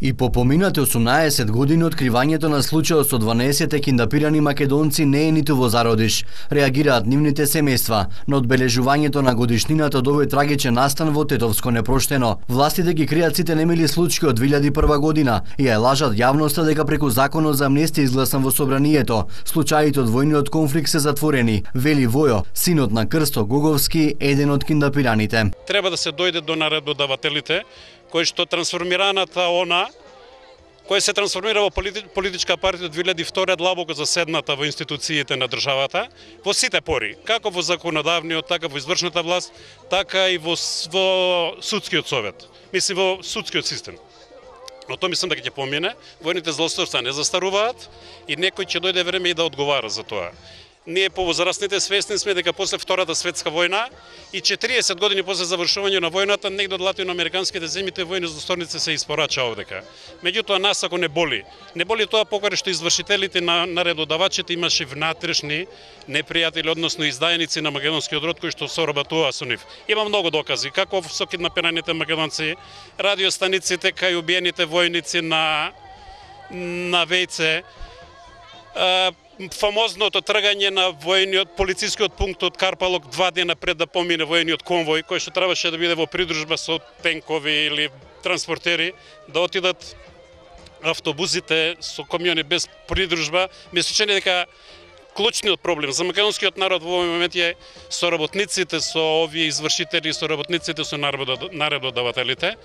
И по поминати 18 години откривањето на случајот со 12 киндапирани македонци не е ниту во зародиш. Реагираат нивните семејства на одбележувањето на годишнината од овој трагичен настан во Тетовско непроштено. Властите ги кријат сите немили случаи од 2001 година и ја лажат јавноста дека преку законот за амнестија изгласан во собранието, случаите од војниот конфликт се затворени, вели Војо, синот на Крсто Гоговски, еден од киндапираните. Треба да се дојде до наредодавателите, кој што трансформираната кој се трансформира во политичка партија од 2002 длабоко заседната во институциите на државата, во сите пори, како во законодавниот, така во извршната власт, така и во судскиот совет, мислам во судскиот систем. Но тоа мислам дека ќе помине, војните злосторства не застаруваат и некој ќе дојде време и да одговара за тоа. Ние повозрастните свесни сме дека после Втората светска војна и 40 години после завршување на војната негде од латиноамериканските земјите војни злосторници се испорача овдека. Меѓутоа нас ако не боли тоа покаде што извршителите на наредодавачите имаше внатрешни непријатели, односно издајници на македонскиот род кои што соработуваа со нив. Има многу докази како со киднапираните македонци, радиостаниците кај убиените војници на Вејце, фамозното тргање на војниот полицискиот пункт од Карпалок 2 дена пред да помине војниот конвој, кој што требаше да биде во придружба со тенкови или транспортери, да отидат автобусите со камиони без придружба. Мислам дека клучниот проблем за македонскиот народ во овој момент е соработниците со овие извршители, соработниците со наредодавателите.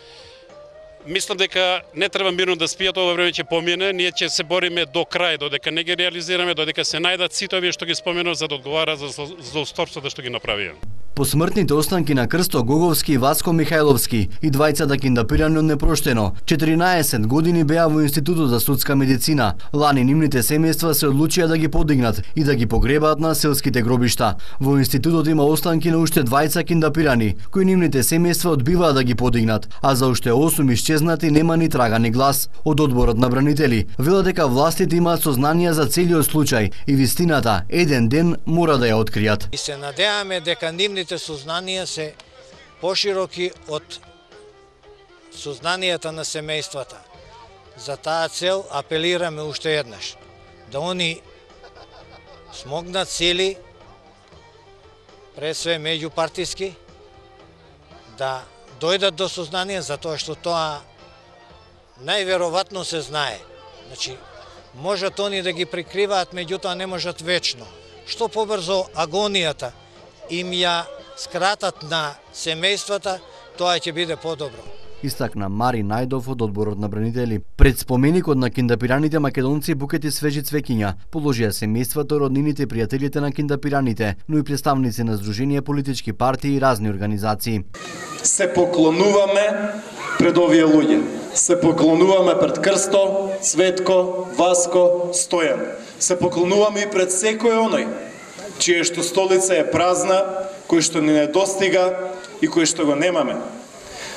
Мислам дека не треба мирно да спијат, ова време ќе помине, ние ќе се бориме до крај, додека не ги реализираме, додека се најдат сите овие што ги споменав за да одговара за злосторството што ги направија. Посмртните останки на Крсто Гоговски и Васко Михајловски и двајцата киндапирани од непроштено, 14 години беа во Институтот за судска медицина. Лани нивните семејства се одлучија да ги подигнат и да ги погребаат на селските гробишта. Во институтот има останки на уште двајца киндапирани, кои нивните семејства одбиваат да ги подигнат, а за уште 8 исчезнати нема ни трага ни глас. Од одборот на бранители велат дека властите имаат сознанија за целиот случај и вистината еден ден мора да ја откријат. И се надеваме дека нивните сознанија се пошироки од сознанијата на семејствата. За таа цел апелираме уште еднаш да они смогнат сили, пред све меѓупартиски, да дојдат до сознание, затоа што тоа најверојатно се знае. Значи, можат они да ги прикриваат, меѓутоа не можат вечно. Што побрзо агонијата им ја скратат на семејствата, тоа ќе биде подобро. Истакна Мари Најдов од одборот на бранители. Пред споменикот на киндапираните македонци букети свежи цвеќиња положија семејствата, роднините и пријателите на киндапираните, но и представници на здруженија, политички партии и разни организации. Се поклонуваме пред овие луѓе. Се поклонуваме пред Крсто, Цветко, Васко, Стојан. Се поклонуваме и пред секој оној чија што столица е празна, кој што ни недостига и кој што го немаме.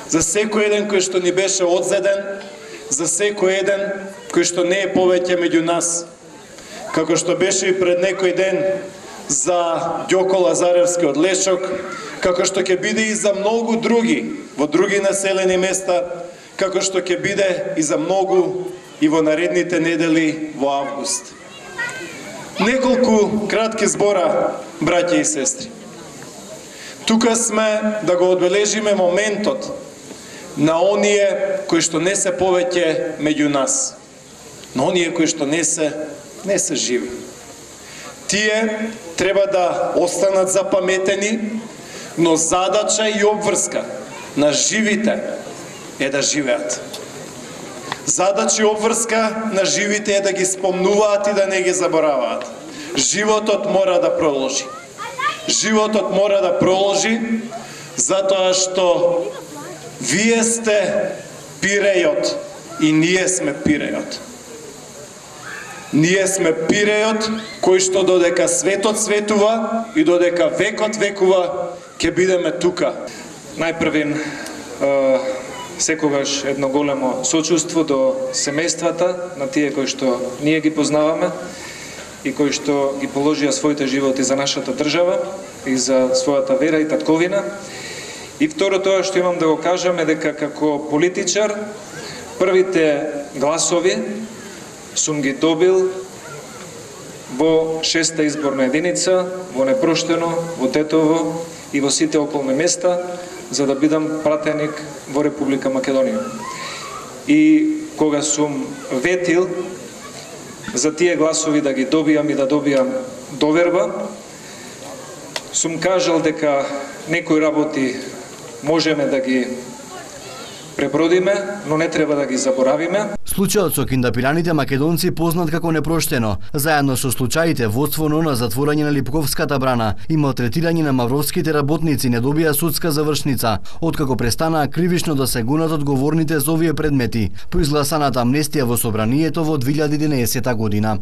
За секој еден кој што ни беше одзеден, за секој еден кој што не е повеќе меѓу нас. Како што беше и пред некој ден за Ѓоко Лазаревски од Лешок, како што ќе биде и за многу други во други населени места, како што ќе биде и за многу и во наредните недели во август. Неколку кратки збора, браќа и сестри. Тука сме да го одбележиме моментот на оние кои што не се повеќе меѓу нас, на оние кои што не се живи. Тие треба да останат запаметени, но задача и обврска на живите е да живеат. Задача и обврска на живите е да ги спомнуваат и да не ги забораваат. Животот мора да продолжи. Животот мора да продолжи затоа што вие сте пирејот и ние сме пирејот. Ние сме пирејот кој што додека светот светува и додека векот векува ќе бидеме тука. Најпрвин секогаш едно големо сочувство до семејствата на тие кои што ние ги познаваме и кои што ги положија своите животи за нашата држава и за својата вера и татковина. И второ, тоа што имам да го кажам е дека како политичар Првите гласови сум ги добил во 6-та изборна единица, во Непроштено, во Тетово и во сите околни места, за да бидам пратеник во Република Македонија. И кога сум ветил за тие гласови да ги добијам и да добијам доверба, сум кажал дека некои работи можеме да ги пребродиме, но не треба да ги заборавиме. Случајот со киндапираните македонци познат како Непроштено, заедно со случаите водствено на затворање на Липковската брана и малтретирање на мавровските работници не добија судска завршница, откако престанаа кривично да се гонат одговорните за овие предмети, по изгласаната амнестија во собранието во 2011 година.